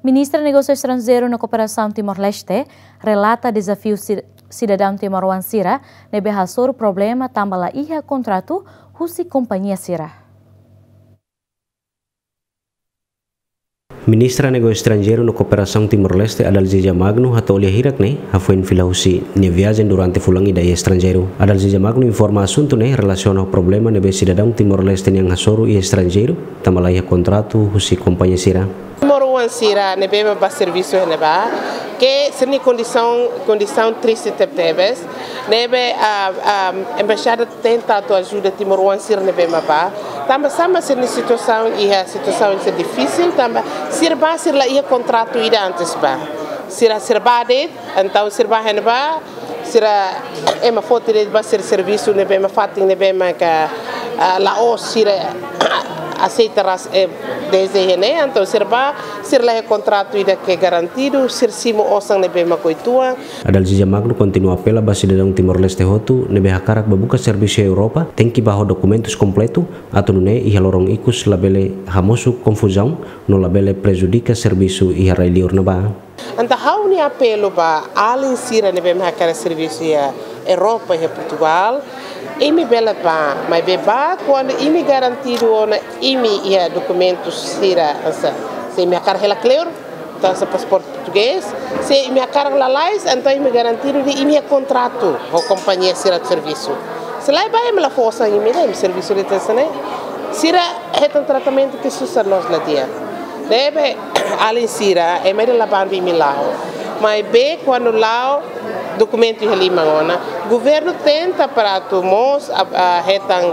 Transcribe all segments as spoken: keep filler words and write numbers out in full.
Ministra Negósiu Estranjeiru no Kooperasaun Timor-Leste relata dezafiu si-, sidadaun timoroan sira ne'ebé hasoru problema tanba la iha kontratu husi kompañia sira. Ministra Negósiu Estranjeiru no Kooperasaun Timor-Leste, Adalgisa Magno, hato'o lia hirak ne'e, hafoin fila husi nia viajen durante fulan ida iha estranjeiru. Adalgisa Magno informa asuntu ne'e relasiona ho problema ne'ebé sidadaun Timor-Leste nian hasoru iha estranjeiru, tanba la iha kontratu husi kompañia sira. Timoroan sira ne'ebé mak bá servisu iha ne'ebá, ke sira-nia kondisaun, kondisaun triste tebetebes, ne'ebé, ah, ah, embaixada tenta atu ajuda timoroan sira ne'ebé mak bá. Tanba sá mak sira-nia situasaun iha situasaun sira difisil, tanba sira bá sira la iha kontratu ida antes bá. Sira, sira bá de'it, entaun sira bá iha ne'ebá, sira ema foti de'it ba sira servisu ne'ebé mak fatin ne'ebé mak, ah, la'ós sira aseita ras, eh, dezde iha ne'e, entaun sira bá, sira la iha kontratu ida ke garantidu, sira simu osan ne'ebé mak oituan. Adalgisa Magno kontinua apela ba sidadaun Timor-Leste hotu ne'ebé hakarak bá buka servisu iha Europa, tenke bá ho dokumentus kompletu, atu nune'e iha loron ikus labele hamosu konfuzaun, no labele prejudika servisu iha rai-liur ne'ebá. Entaun ha'u-nia apelu ba alin sira ne'ebé mak hakarak servisu iha Europa, iha Portugal, imi bele bá, maibé bá kuandu imi garantidu ona imi iha dokumentus sira hanesan. Se imi hakarak hela kleur, entaun hanesan pasaporte portugés, se imi hakarak lalais, entaun imi garantidu de'it imi iha kontratu ho kompañia sira servisu. Se lae bá imi la fó osan imi de'it, imi servisu de'it hanesan ne'e. Sira hetan tratamentu ke susar loos la di'ak. Ne'ebé alin sira, ema ida la bandu imi la'o. Maibé kuandu la'o, dokumentu iha liman ona. Governu tenta para atu mós, ah, ah, hetan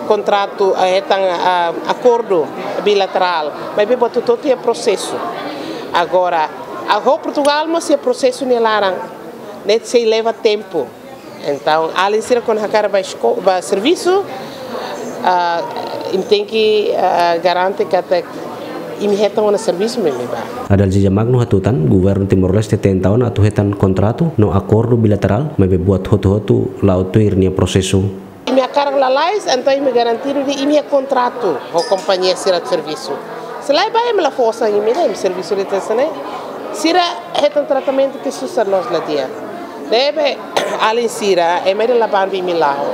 kontratu, ah, hetan, ah, akordu bilaterál. Maibé buat hotu-hotu iha prosesu. Agora, ah, ho Portugal mós iha prosesu nia laran. Ne'e sei leva tempu. Entaun, alin sira kuandu hakarak bá esko-, bá servisu, ah, imi tenke, ah, garante katak imi hetan ona servisu mak imi bá. Adalgisa Magno hatutan, governu Timor-Leste tenta ona atu hetan kontratu no akordu bilaterál, maibé buat hotu-hotu la'o tuir nia prosesu. Imi hakarak lalais, entaun imi garantidu de'it imi iha kontratu ho kompañia sira servisu. Se lae bá imi la fó osan imi de'it, imi servisu de'it hanesan ne'e. Sira hetan tratamentu ke susar loos la di'ak. Ne'ebé alin sira, ema ida la bandu imi la'o.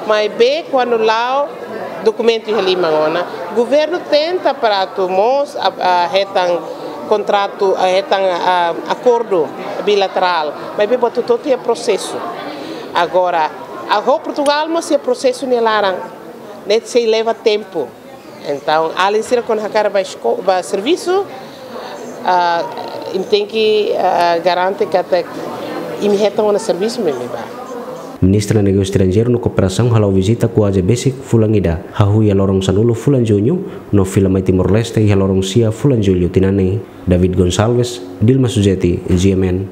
Maibé kuandu la'o, dokumentu iha liman ona. Governu tenta para atu mós, ah, ah, hetan kontratu, ah, hetan, ah, akordu bilaterál. Maibé buat hotu-hotu iha prosesu. Agora, ah, ho Portugal mós iha prosesu nia laran. Ne'e sei leva tempu. Entaun, alin sira kuandu hakarak bá esko-, bá servisu, ah, imi tenke, ah, garante katak imi hetan ona servisu mak imi bá. Ministra Negósiu Estranjeiru no Kooperasaun hala'o vizita kuaze besik fulan ida, hahú iha loron sanulu fulan Juñu, no fila mai Timor-Leste iha loron sia fulan Jullu tinan ne'e. David Gonçalves, Dilma Suzeti, G M N.